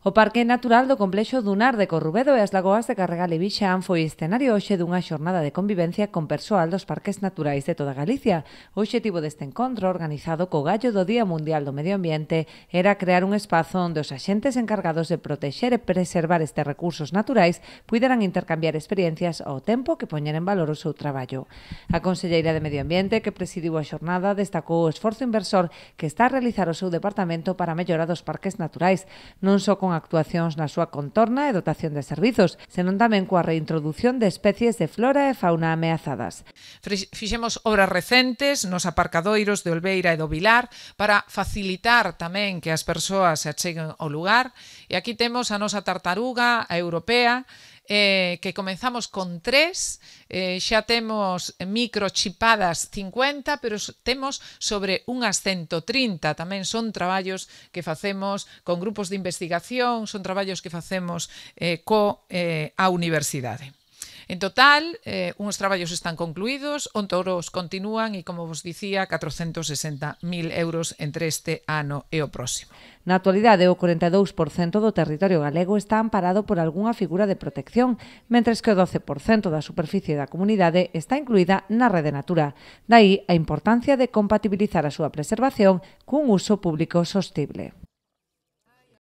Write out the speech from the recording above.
O Parque Natural do Complexo Dunar de Corrubedo e as lagoas de Carregal e Vixán foi escenario hoxe dunha xornada de convivencia con persoal dos parques naturais de toda Galicia. O obxectivo deste encontro, organizado co gallo do Día Mundial do Medio Ambiente, era crear un espazo onde os axentes encargados de protexer e preservar estes recursos naturais puideran intercambiar experiencias ao tempo que poñer en valor o seu traballo. A conselleira de Medio Ambiente, que presidiu a xornada, destacou o esforzo inversor que está a realizar o seu departamento para a mellora dos parques naturais, non só con actuacións na súa contorna e dotación de servizos, senón tamén coa reintrodución de especies de flora e fauna ameazadas. Fixemos obras recentes nos aparcadoiros de Olveira e do Vilar para facilitar tamén que as persoas se acheguen ao lugar, e aquí temos a nosa tartaruga, a europea, que comenzamos con 3, xa temos microchipadas 50, pero temos sobre unhas 130. Tamén son traballos que facemos con grupos de investigación, son traballos que facemos a universidade. En total, uns traballos están concluídos, outros continúan e, como vos dicía, 460.000 euros entre este ano e o próximo. Na actualidade, o 42% do territorio galego está amparado por algunha figura de protección, mentres que o 12% da superficie da comunidade está incluída na Rede Natura. Daí a importancia de compatibilizar a súa preservación cun uso público sostible.